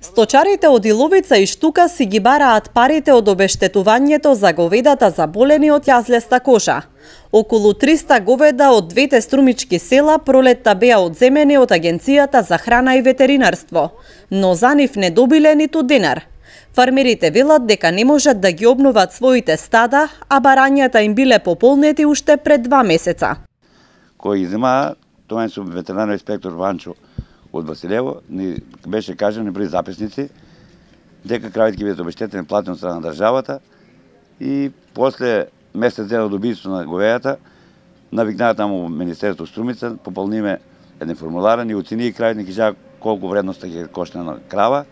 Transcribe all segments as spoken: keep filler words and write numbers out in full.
Сточарите од Иловица и Штука си ги бараат парите од обештетувањето за говедата заболени од јазлеста кожа. Околу триста говеда од двете струмички села пролетта беа одземени од Агенцијата за храна и ветеринарство, но за нив не добиле ниту денар. Фармерите велат дека не можат да ги обноват своите стада, а барањата им биле пополнети уште пред два месеца. Кој изема, тоа е ветеринарен инспектор Ванчо од Василево, ни беше кажано ни при записници дека кравите ќе бидат обештетени платено од страна на државата и после месец дена од убиство на говејата навикнаа таму Министерството Струмица, пополниме еден формулар, ни оцени кравите, ни кажа колку вредноста ќе кошне на крава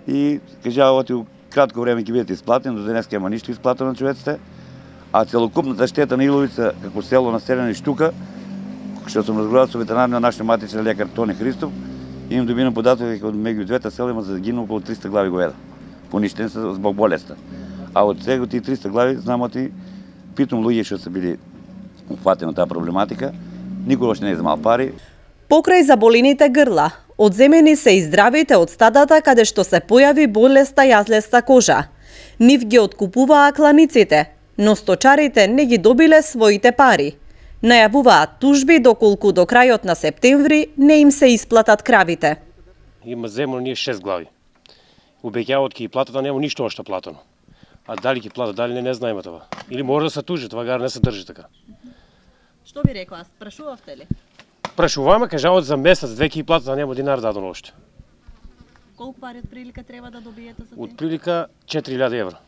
и кажа оти кратко време ќе бидат исплатени, до денеска нема ништо исплатено на човеците, а целокупната штета на Иловица како село населено и Штука, што сум разговарал со ветеринар на нашиот матичен лекар Тони Христов, им добинам податок дека од меѓу двете села има загинало околу триста глави говеда. Поништени се због болеста. А од сега тие триста глави знам оти питам луѓе што се били упатени од таа проблематика, никогаш не е земал пари. Покрај заболените грла, одземени се и здравите од стадата каде што се појави болеста јазлеста кожа. Нив ги откупуваа кланиците, но сточарите не ги добиле своите пари. Најавуваат тужби доколку до крајот на септември не им се исплатат кравите. Има земно ние шест глави. Обеќаваат ќе ги платат, а нема ништо още платено. А дали ќе платат, дали не, не знаеме това. Или може да се тужи, това гар не се држи така. Што би рекла, прашувавте ли? Прашуваме, кажаваат за месец, две ќе ги платат, а нема динар дадено още. Колку пари од прилика треба да добиете за Од прилика четири илјади евра.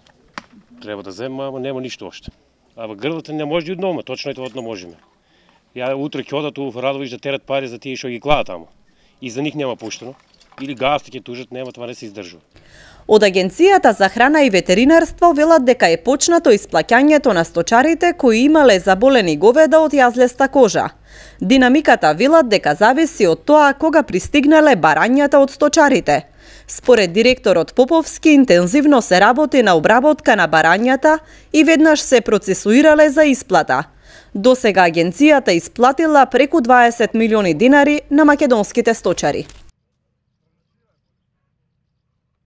Треба да земаме, ама нема ништо още. Ама грлата не може да однома, точно е тоа не можеме. Ја утре ќе одат у Радовиш да терат пари за тие што ги клаат таму. И за нив нема пуштено. Или гасти ќе тужат, нема, това не се издржува. Од Агенцијата за храна и ветеринарство велат дека е почнато исплаќањето на сточарите кои имале заболени говеда од јазлеста кожа. Динамиката велат дека зависи од тоа кога пристигнале барањата од сточарите. Според директорот Поповски, интензивно се работи на обработка на барањата и веднаш се процесуирале за исплата. Досега агенцијата исплатила преку дваесет милиони динари на македонските сточари.